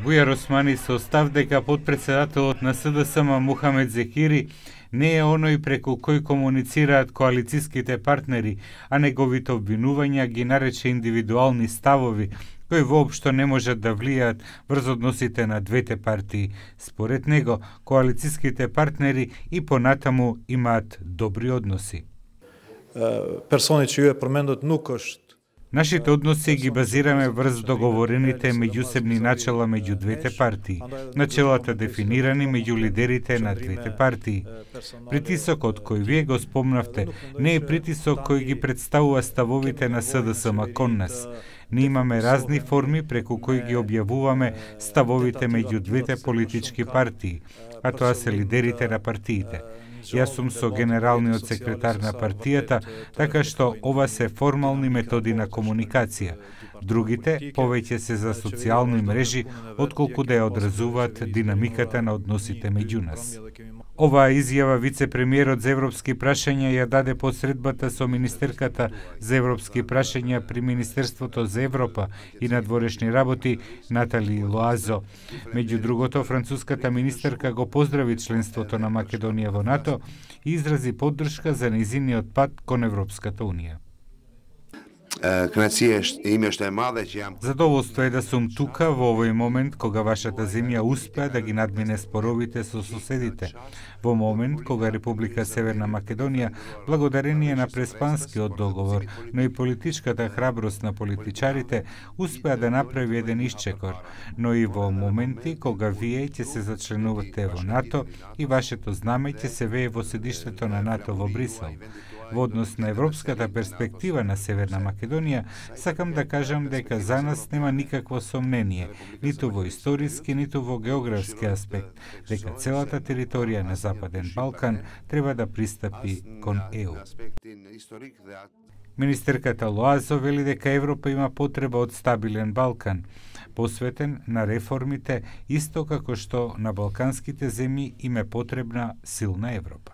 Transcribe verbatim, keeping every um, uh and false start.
Бујар Османи се остав дека потпредседателот на СДСМ Мухамед Зекири не е оној преку кој комуницираат коалициските партнери, а неговите обвинувања ги нарече индивидуални ставови, кои воопшто не можат да влијаат врз односите на двете партии. Според него, коалициските партнери и понатаму имаат добри односи. Персони чиј е променот нукош. Нашите односи ги базираме врз договорените меѓусебни начела меѓу двете партии, начелата дефинирани меѓу лидерите на двете партии. Притисокот кој вие го спомнавте не е притисок кој ги представува ставовите на СДСМ кон нас. Ние имаме разни форми преку кои ги објавуваме ставовите меѓу двете политички партии, а тоа се лидерите на партиите. Јас сум со генералниот секретар на партијата, така што ова се формални методи на комуникација. Другите повеќе се за социјални мрежи, отколку да ја одразуваат динамиката на односите меѓу нас. Оваа изјава вице-премиерот за европски прашања ја даде по средбата со министерката за европски прашања при Министерството за Европа и надворешни работи Натали Лоазо. Меѓу другото, француската министерка го поздрави членството на Македонија во НАТО и изрази поддршка за нејзиниот пат кон Европската унија. Задоволство е да сум тука во овој момент кога вашата земја успеа да ги надмине споровите со соседите. Во момент кога Република Северна Македонија, благодарение на Преспанскиот договор, но и политичката храброст на политичарите, успеа да направи еден исчекор, но и во моменти кога вие ќе се зачленувате во НАТО и вашето знаме ќе се вее во седиштето на НАТО во Брисел. Во однос на европската перспектива на Северна Македонија, сакам да кажам дека за нас нема никакво сомнение, ниту во историски, ниту во географски аспект, дека целата територија на Западен Балкан треба да пристапи кон Е У. Министерката Лоазо вели дека Европа има потреба од стабилен Балкан, посветен на реформите, исто како што на балканските земји им е потребна силна Европа.